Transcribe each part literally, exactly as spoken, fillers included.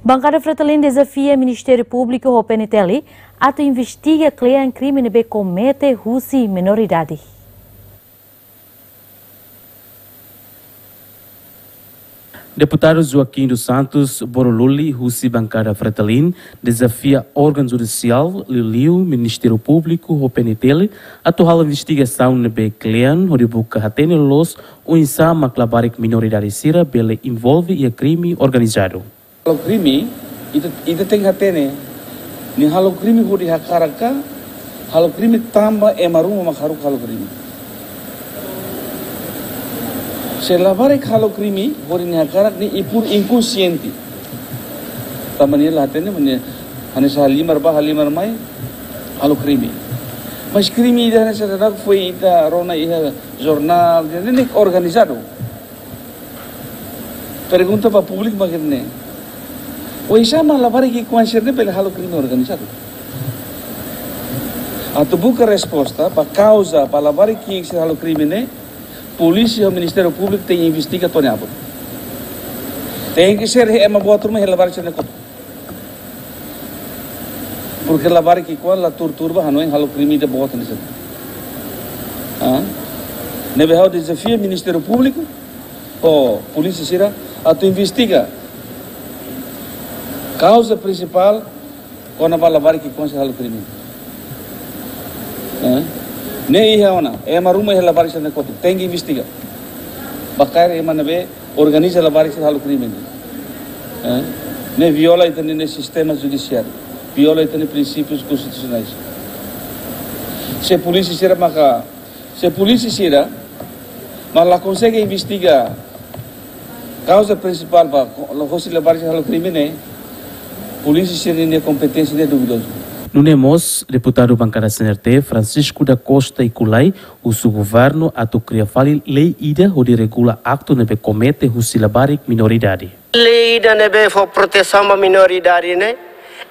Bankada Fretilin dezafia Ministériu Públiku ho P N T L atu investiga kle'an krime ne'ebé komete husi menoridade. Deputadu Joaquim dos Santos Boroluli, husi bankada Fretilin, dezafia órgaun judisiál, liuliu Ministériu Públiku ho P N T L, atu halo investigasaun ne'ebé kle'an hodi buka hatene loloos oinsá mak labarik menoridade sira bele envolve iha krime organizadu. Halo krime, ita, ita tenke hatene, nia halo krime hodi hakarak ka, halo krime tanba ema ruma mak haruka halo krime. Se labarik halo krime hodi nia hakarak, ne'e pur inkonsiente. Tanba nia la hatene, nia hanesan halimar bá, halimar mai, halo krime. Mas krime ida hanesan ida-ne'e foin ita rona iha jornál, ne'e, ne'e organizadu. Pergunta ba públiku mak ne'e. Oinsá mak labarik ki'ik-oan sira-ne'e bele halo krime organizadu? Atu buka resposta ba kauza ba labarik ki'ik sira halo krime ne'e, polísia ho Ministériu Públiku tenke investiga to'o nia abut. Tenke ser ema boot ruma iha labarik sira-ne'e kotuk. Porque labarik ki'ik-oan la tuur-tuur ba hanoin halo krime ida boot hanesan ne'e. Ah? Ne'ebé ha'u dezafia Ministériu Públiku ho polísia sira atu investiga kauza prinsipál kona-ba labarik ki'ik-oan sira halo krime. Eh? Ne'e iha ona, ema ruma iha labarik sira-ne'e kotuk, tenke investiga. Ba kaer ema ne'ebé organiza labarik sira halo krime ne'e. Eh? Ne'e viola ita-nia sistema judisiáriu, viola ita-nia prinsípius konstitusionais. Se polísia sira maka, se polísia sira mak la konsege investiga kauza prinsipál ba ko-, hosi labarik sira halo krime ne'e, polísia sira-nia kompeténsia ne'e duvidozu. Nune'e mós, deputadu bankada C N R T, Francisco da Costa Iculai, husu governu atu kria fali lei ida hodi regula aktu ne'ebé komete husi labarik menoridade. Lei ida ne'ebé fó protesaun ba menoridade ne'e,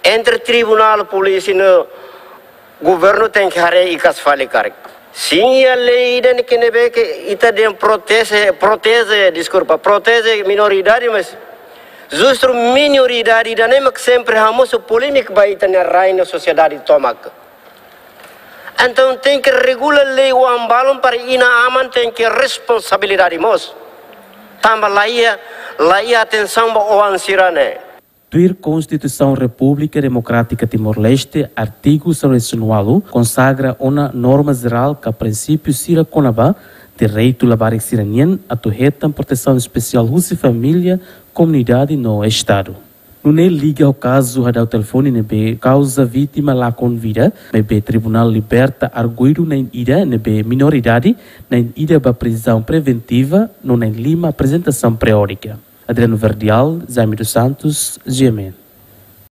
entre tribunál, polísia no governu tenke haree ikas fali karik. Sin, iha lei ida-ne'e ke ne'ebé ke ita dehan proteje, proteje, deskulpa, proteje menoridade, mas justu menoridade ida-ne'e mak sempre hamosu polémika ba ita-nia rai no sosiedade tomak. Entaun tenke regula lei oan balun para inan-aman tenke responsabilidade mós. Tanba la iha, la iha atensaun ba oan sira-ne'e. Tuir Konstituisaun Repúblika Demokrátika Timor-Leste, artigu sanulu-resin-ualu, konsagra ona norma jerál ka prinsípiu sira kona-ba direitu labarik sira-nian atu hetan protesaun espesiál husi família, komunidade no Estadu. Nune'e liga ho kazu hadau telefone ne'ebé kauza vítima lakon vida, maibé tribunál liberta arguidu na'in ida ne'ebé menoridade, na'in ida ba prizaun preventiva, no na'in lima aprezentasaun periódika. Adriano Verdial, Jaime dos Santos, G M N.